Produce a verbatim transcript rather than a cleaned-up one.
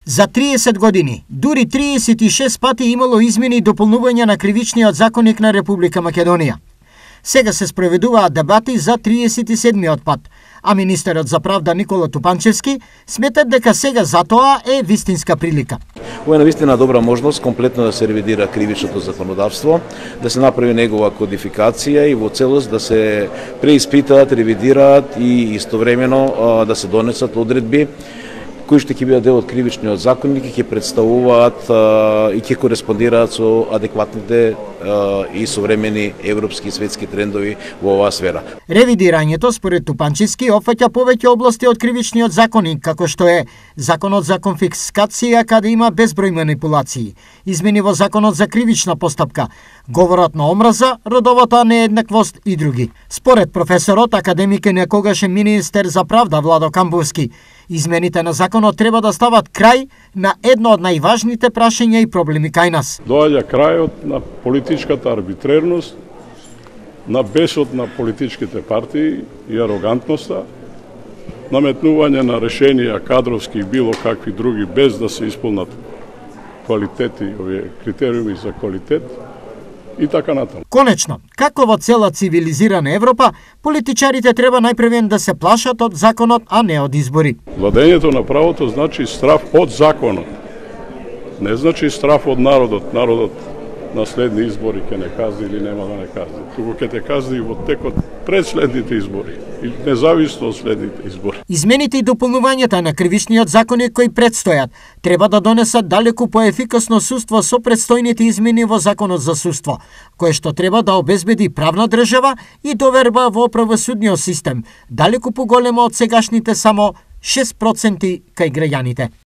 За триесет години, дури триесет и шест пати имало измени и дополнување на кривичниот законник на Република Македонија. Сега се спроведуваат дебати за триесет и седмиот пат, а министерот за правда Никола Тупанчевски смета дека сега за тоа е вистинска прилика. Ова е навистина добра можност комплетно да се ревидира кривичното законодавство, да се направи негова кодификација и во целост да се преиспитаат, ревидираат и истовремено да се донесат одредби кои што ќе бидат дел од кривичниот законник и ќе представуваат а, и ќе кореспондираат со адекватните а, и современи европски и светски трендови во оваа сфера. Ревидирањето според Тупанчевски опфаќа повеќе области од кривичниот законник, како што е законот за конфискација каде има безброј манипулации, измени во законот за кривична постапка, говорот на омраза, родовата нееднаквост и други. Според професорот, академик и некогашен министер за правда Владо Камбовски, измените на законот треба да стават крај на едно од најважните прашања и проблеми кај нас. Доаѓа крајот на политичката арбитрерност, на бесот на политичките партии и арогантноста, наметнување на решенија кадровски и било какви други без да се исполнат квалитети, овие критериуми за квалитет и така натаму. Конечно, како во цела цивилизирана Европа, политичарите треба најпрвен да се плашат од законот, а не од избори. Владењето на правото значи страф од законот. Не значи страф од народот. Народот на следни избори ќе не казни или нема да не казни. Туку ќе те казни во текот пред следните избори и независно од следните избори. Измените и дополнувањата на кривичниот законник кои предстојат треба да донесат далеку поефикасно судство со предстојните измени во законот за судство, кое што треба да обезбеди правна држава и доверба во правосудниот систем, далеку поголема од сегашните само шест проценти кај граѓаните.